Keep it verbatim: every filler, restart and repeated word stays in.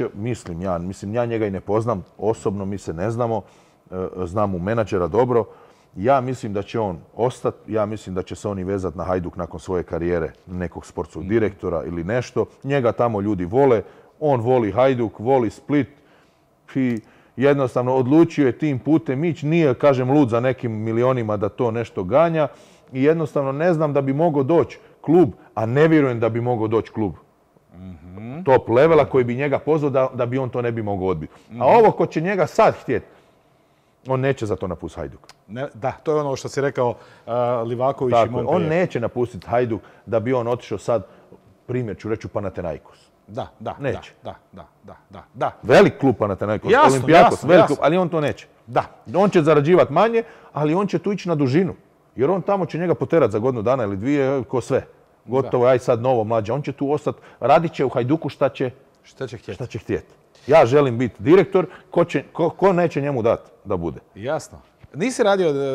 će, mislim ja, mislim ja njega i ne poznam, osobno mi se ne znamo, znam mu menadžera dobro, ja mislim da će on ostati, ja mislim da će se oni vezati na Hajduk nakon svoje karijere nekog sportskog direktora ili nešto. Njega tamo ljudi vole, on voli Hajduk, voli Split i jednostavno odlučio je tim putem ići. Nije, kažem, lud za nekim milionima da to nešto ganja i jednostavno ne znam da bi mogao doći klub, a ne vjerujem da bi mogao doći klub top levela koji bi njega pozvao da, da bi on to ne bi mogao odbiti. A ovo ko će njega sad htjeti, on neće za to napustiti Hajduk. Ne, da, to je ono što si rekao uh, Livaković Tako, i Montpellier. on neće napustiti Hajduk da bi on otišao sad, primjer ću reći, u Panathinaikos. Da, da, neće. da, da, da, da, da. Velik klub Panathinaikos, Jasno, Olympiakos, jasno, velik jasno. klub, ali on to neće. Da. On će zarađivati manje, ali on će tu ići na dužinu. Jer on tamo će njega poterati za godinu dana ili dvije, ko sve. Gotovo, aj sad novo mlađe. On će tu ostati, radit će u Hajduku šta će, Šta će htjeti? šta će htjeti. Ja želim biti direktor, ko, će, ko, ko neće njemu dati da bude. Jasno. Nisi radio